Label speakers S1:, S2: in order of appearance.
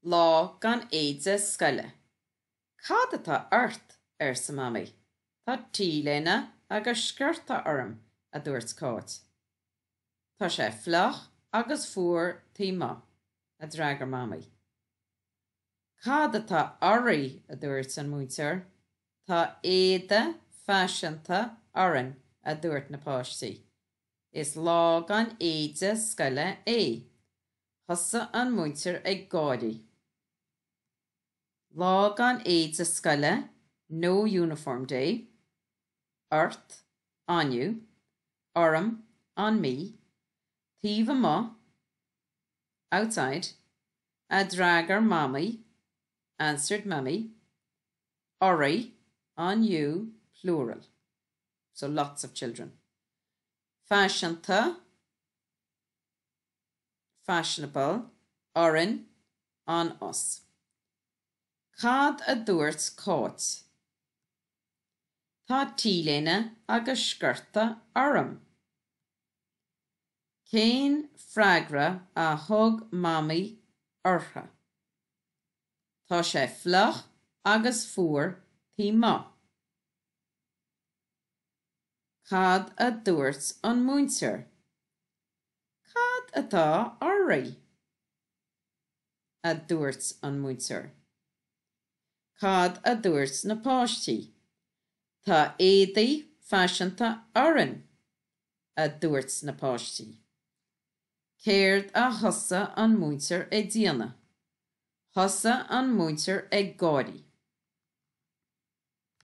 S1: Lá gan éide scoile. Cad atá ort? arsa Mamaí. Tá t-léine agus sciorta orm, a dúirt Cáit. Tá sé fliuch agus fuar taobh amuigh, a d'fhreagair Mamaí. Cad atá oraibh? a dúirt an múinteoir. Tá éide faiseanta orainn, a dúirt na páistí. Is lá gan éide scoile é. Thosaigh an múinteoir ag gáirí. Lá gan éide scoile, no uniform day, ort, on you, orm, on me, taobh amuigh, outside, a d'fhreagair Mamaí, answered Mummy, oraibh, on you, plural, so lots of children. Faiseanta, fashionable, orainn, on us. Cad a dúirt Cáit? Tá t-léine agus sciorta orm. Cén freagra a thug Mamaí orthu? Tá sé fliuch agus fuar taobh amuigh. Cad a dúirt an múinteoir? Cad atá oraibh? a dúirt an múinteoir. Cad a dúirt na páistí? Tá éadaí faiseanta orainn, a dúirt na páistí. Céard a thosaigh an múinteoir ag déanamh? Thosaigh an múinteoir ag gáirí.